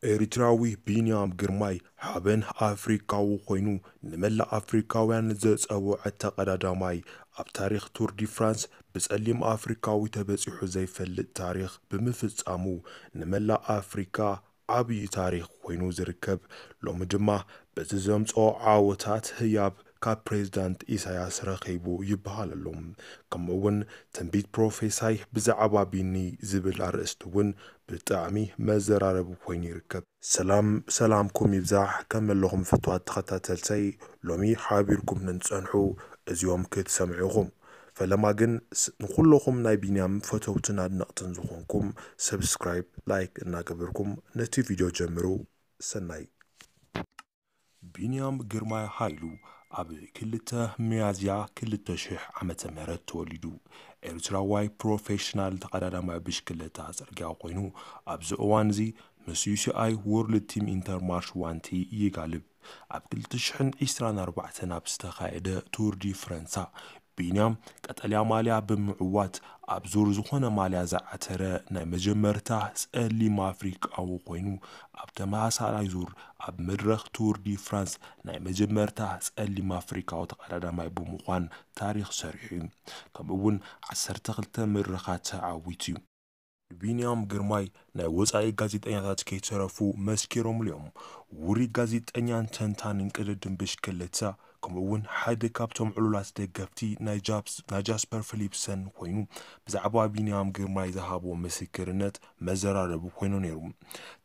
ኤርትራዊ ቢንያም ግርማይ ሓበን ኣፍሪካዊ ኮይኑ፣ ንመላእ ኣፍሪካውያን ዘጸውዐ ተቐዳዳማይ፣ ኣብ ታሪኽ ቱር ዲ ፍራንስ ብጸሊም ኣፍሪካዊ ተበጺሑ ዘይፈልጥ ታሪኽ ብምፍጻሙ፣ ንመላእ ኣፍሪካ ዓብዪ ታሪኽ ኮይኑ ዝርከብ፣ ሎሚ ድማ በቲ ዘምጽኦ ዓወታት ህያብ ካብ ፕሬዝዳንት ኢሳያስ ረኺቡ ይበሃል ኣሎ። ከምኡ እውን ትንቢት ፕሮፌሳይ ብዛዕባ ቢኒ ዝብል ኣርእስቲ እውን ብጣዕሚ መዘራረቢ ኮይኑ ይርከብ። ሰላም ሰላምኩም ይብዛሕ፣ ከመይ ኣለኹም ፍትዋት ተኸታተልተይ? ሎሚ ሓቢርኩም ንትጸንሑ እዚኦም ክትሰምዑ ኢኹም። ፈለማ ግን ስ-፣ ንኹለኹም ናይ ቢንያም ፈተውትን ኣድነቕትን ዝኾንኩም ሰብስክራይብ፣ ላይክ እናገበርኩም ነቲ ቪድዮ ጀምሩ። ሰናይ። ቢንያም ግርማይ ሃይሉ ኣብ ክልተ ሚያዝያ ክልተ ሽሕ ዓመተ ምህረት ተወሊዱ። ኤርትራዋይ ፕሮፌሽናል ተቐዳዳማይ ብሽክለታ ጽርግያ ኮይኑ፣ ኣብዚ እዋን እዚ ምስ ዩ ሲ ኣይ ወርልድ ቲም ኢንተርማርሽ ዋንቲ ይጋልብ። ኣብ ክልተ ሽሕን ዕስራን ኣርባዕተን ኣብ ዝተኻየደ ቱር ዲ ፍረንሳ፣ ቢንያም ቀጠልያ ማልያ ብምዕዋት፣ ኣብ ዙር ዝኾነ ማልያ ዝዓተረ ናይ መጀመርታ ጸሊም ኣፍሪቃዊ ኮይኑ፣ ኣብ ተመሳሳላይ ዙር ኣብ መድረኽ ቱር ዲ ፍራንስ ናይ መጀመርታ ጸሊም ኣፍሪቃዊ ተቐዳዳማይ ብምዃን ታሪኽ ሰሪሑ እዩ። ከምኡ እውን ዓሰርተ ክልተ መድረኻት ተዓዊቱ እዩ። ንቢንያም ግርማይ ናይ ወጻኢ ጋዜጠኛታት ከይተረፉ መስኪሮምሉ እዮም። ውሩይ ጋዜጠኛን ተንታንን ቅድድም ብሽክለታ፣ ከምኡ እውን ሓደ ካብቶም ዕሉላት ደገፍቲ ናይ ጃፕስ-፣ ናይ ጃስፐር ፊሊፕሰን ኮይኑ፣ ብዛዕባ ቢንያም ግርማይ ዝሃቦ ምስክርነት መዘራረቢ ኮይኑ ነይሩ።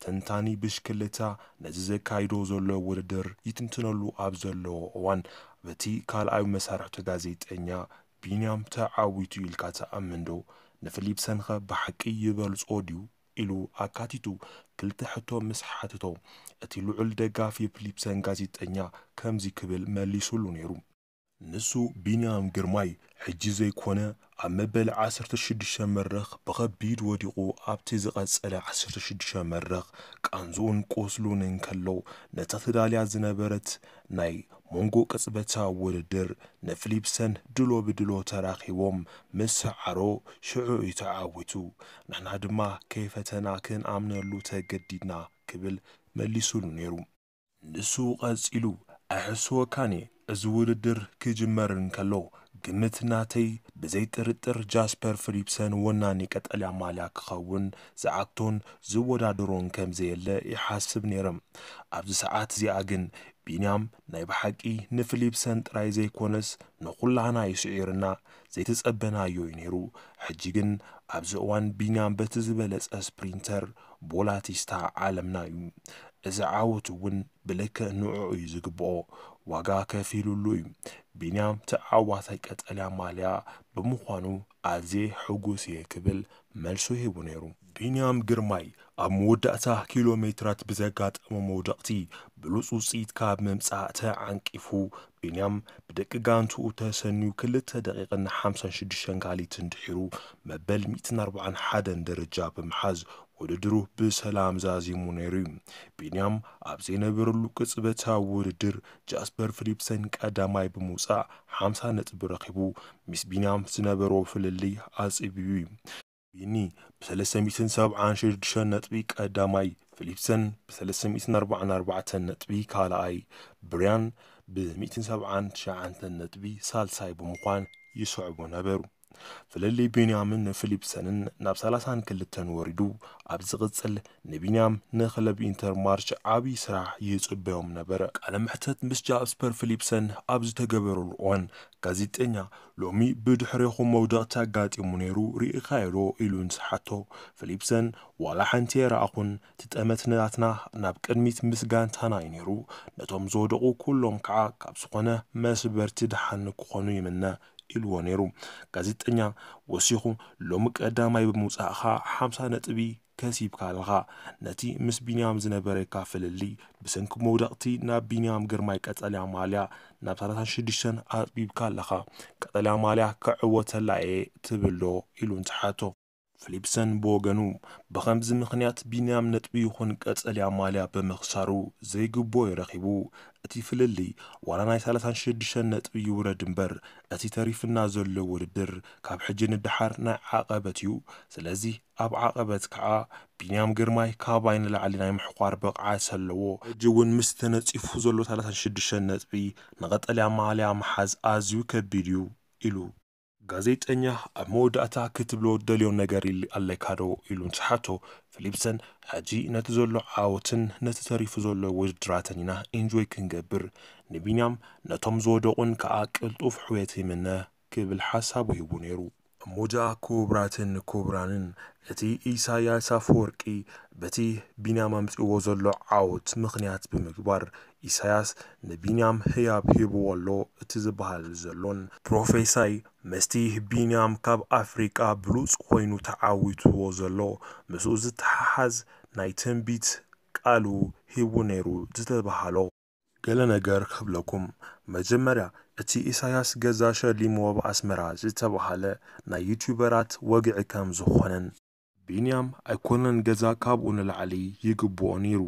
ተንታኒ ብሽክለታ ነዚ ዘካይዶ ዘሎ ውድድር ይትንትነሉ ኣብ ዘለዎ እዋን፣ በቲ ካልኣዊ መሳርሕቱ ጋዜጠኛ፣ ቢንያም ተዓዊቱ ኢልካ ትኣምን ዶ? ንፊሊፕሰን ኸ ብሓቂ ይበልጾ ድዩ? ኢሉ ኣካቲቱ ክልተ ሕቶ ምስ ሓተቶ፣ እቲ ልዑል ደጋፊ ፊሊፕሰን ጋዜጠኛ ከምዚ ክብል መሊሱሉ ነይሩ። ንሱ ቢንያም ግርማይ ሕጂ ዘይኮነ ኣብ መበል ዓሰርተ ሽዱሽተ መድረኽ ብኸቢድ ወዲቑ ኣብቲ ዝቐጸለ ዓሰርተ ሽዱሽተ መድረኽ ቃንዝኡን ቁስሉን እንከሎ ነታ ተዳልያ ዝነበረት ናይ መንጎ ቅጽበታዊ ውድድር ንፊሊፕሰን ድሎ ብድሎ ተራኺቦም ምስ ሰዓሮ ሽዑ እዩ ተዓዊቱ። ንሕና ድማ ከይፈተና ክንኣምነሉ ተገዲድና ክብል መሊሱሉ ነይሩ። ንሱ ቀጺሉ፣ ኣይሕስወካን እየ፣ እዚ ውድድር ክጅመር እንከሎ፣ ግምት ናተይ ብዘይ ጥርጥር ጃስፐር ፊሊፕሰን ወናኒ ቀጠልያ ማልያ ክኸውን ዝዓግቶን ዝወዳደሮን ከም ዘየለ ይሓስብ ነይረ። ኣብዚ ሰዓት እዚኣ ግን ቢንያም ናይ ብሓቂ ንፊሊፕሰን ጥራይ ዘይኮነስ ንኹላህና እዩ ስዒርና፣ ዘይተጸበናዮ እዩ ነይሩ። ሕጂ ግን ኣብዚ እዋን ቢንያም በቲ ዝበለጸ ስፕሪንተር ቦላቲስታ ዓለምና እዩ። እዚ ዓወት እውን ብልክዕ ንዕኡ እዩ ዝግብኦ። ዋጋ ከፊሉሉ እዩ። ቢንያም ተዓዋታይ ቀጠልያ ማልያ ብምዃኑ ኣዝየ ሕጉስ እየ ክብል መልሱ ሂቡ ነይሩ። ቢንያም ግርማይ ኣብ መወዳእታ ኪሎ ሜትራት ብዘጋጠሞ መውደቕቲ ብሉጽ ውጽኢት ካብ ምምጻእ ተዓንቂፉ፣ ቢንያም ብደቂ ጋንትኡ ተሰንዩ ክልተ ደቂቕን ሓምሳን ሽዱሽተን ካሊትን ድሒሩ መበል ሚእትን ኣርባዓን ሓደን ደረጃ ብምሓዝ ውድድሩ ብሰላም ዛዚሙ ነይሩ እዩ። ቢንያም ኣብ ዘይነበረሉ ቅጽበታዊ ውድድር ጃስፐር ፊሊፕሰን ቀዳማይ ብምውጻእ ሓምሳ ነጥቢ ረኺቡ፣ ምስ ቢንያም ዝነበሮ ፍልልይ ኣጽብዩ እዩ። ቢኒ ብ ሰለስተ ሚእትን ሰብዓን ሽዱሽተን ነጥቢ ቀዳማይ፣ ፊሊፕሰን ብ ሰለስተ ሚእትን ኣርባዓን ኣርባዕተን ነጥቢ ካልኣይ፣ ብርያን ብ ሚእትን ሰብዓን ትሽዓተን ነጥቢ ሳልሳይ ብምዃን ይስዕቡ ነበሩ። ፍልልይ ቢንያምን ፊሊፕሰንን ናብ ሰላሳን ክልተን ወሪዱ፣ ኣብ ዝቕጽል ንቢንያም ንክለብ ኢንተርማርች ዓብዪ ስራሕ ይጽበዮም ነበረ። ቃለ መሕተት ምስ ጃስፐር ፊሊፕሰን ኣብ ዝተገበረሉ እዋን፣ ጋዜጠኛ፣ "ሎሚ ብድሕሬኹም መውደቕቲ ኣጋጢሙ ነይሩ፣ ርኢኻዮ ዶ?" ኢሉ ምስ ሓቶ፣ ፊሊፕሰን፣ "ዋላ ሓንቲ ኣይረኣኹን፣ እቲ ጠመት ናትና ናብ ቅድሚት ምስ ጋንታና እዩ ነይሩ፣ ነቶም ዝወደቑ ኩሎም ከዓ ካብ ዝኾነ መስበርቲ ደሓን ክኾኑ ይምነ" ኢልዎ ነይሩ። ጋዜጠኛ ወሲኹ፣ "ሎሚ ቀዳማይ ብምውጻእኻ ሓምሳ ነጥቢ ከሲብካ ኣለኻ። ነቲ ምስ ቢንያም ዝነበረካ ፍልልይ፣ ብሰንኪ መውደቕቲ ናብ ቢንያም ግርማይ ቀጠልያ ማልያ ናብ ሰላሳን ሽዱሽተን ኣጽቢብካ ኣለኻ። ቀጠልያ ማልያ ክዕወተላ እየ ትብል ዶ?" ኢሉ እንትሓቶ፣ ፊሊፕሰን ብወገኑ፣ ብኸምዚ ምኽንያት ቢንያም ነጥቢ ይኹን ቀጸልያ ማልያ ብምኽሳሩ ዘይግብኦ እዩ ረኺቡ። እቲ ፍልልይ ዋላ ናይ ሰላሳን ሽዱሽተን ነጥቢ ይውረድ እምበር፣ እቲ ተሪፍና ዘሎ ውድድር ካብ ሕጂ ንደሓር ናይ ዓቐበት እዩ። ስለዚ ኣብ ዓቐበት ከዓ ቢንያም ግርማይ ካባይ ንላዕሊ ናይ ምሕቋር ብቕዓት ኣለዎ። ሕጂ እውን ምስ ተነጺፉ ዘሎ ሰላሳን ሽዱሽተን ነጥቢ ንቐጠልያ ማልያ ምሓዝ ኣዝዩ ከቢድ እዩ ኢሉ። ጋዜጠኛ ኣብ መወዳእታ ክትብሎ ደልዮ ነገር ኣለካ ዶ ኢሉ እንትሓቶ፣ ፊሊፕሰን፣ ሕጂ ነቲ ዘሎ ዓወትን ነቲ ተሪፉ ዘሎ ውድድራትን ኢና ኢንጆይ ክንገብር፣ ንቢንያም ነቶም ዝወደቑን ከዓ ቅልጡፍ ሕውየት ይምነ ክብል ሓሳቡ ሂቡ ነይሩ። እሞ ጃ ክቡራትን ክቡራንን፣ እቲ ኢሳያስ ኣፈወርቂ በቲ ቢንያም ኣምጺእዎ ዘሎ ዓወት ምኽንያት ብምግባር፣ ኢሳያስ ንቢንያም ህያብ ሂብዎ ኣሎ እቲ ዝበሃል ዘሎን ፕሮፌሳይ ምስቲ ቢንያም ካብ ኣፍሪቃ ብሉጽ ኮይኑ ተዓዊትዎ ዘሎ ምስኡ ዝተሓሓዝ ናይ ትንቢት ቃሉ ሂቡ ነይሩ ዝተባሃሎ። ገለ ነገር ክብለኩም። መጀመርያ እቲ ኢሳያስ ገዛ ሸሊምዎ ኣብ ኣስመራ ዝተባሃለ ናይ ዩቲዩበራት ወግዒ ከም ዝኾነን፣ ቢንያም ኣይኮነን ገዛ ካብኡ ንላዕሊ ይግብኦ ነይሩ፣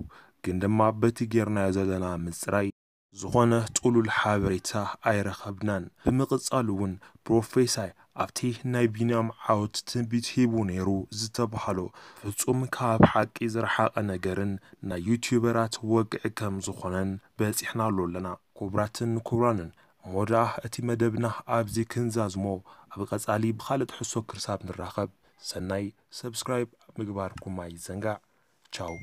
ግን ድማ በቲ ጌርናዮ ዘለና ምጽራይ ዝኾነ ጥሉል ሓበሬታ ኣይረኸብናን። ብምቕጻል እውን ፕሮፌሳይ ኣብቲ ናይ ቢንያም ዓወት ትንቢት ሂቡ ነይሩ ዝተባሃሎ ፍጹም ካብ ሓቂ ዝረሓቐ ነገርን ናይ ዩቲዩበራት ወግዒ ከም ዝኾነን በጺሕናሉ ኣለና። ክቡራትን ክቡራንን፣ እሞ ደኣ እቲ መደብና ኣብዚ ክንዛዝሞ፣ ኣብ ቀጻሊ ብኻልእ ትሕዝቶ ክርሳብ ንራኸብ። ሰናይ፣ ሰብስክራይብ ምግባርኩም ኣይዘንጋዕ። ቻው።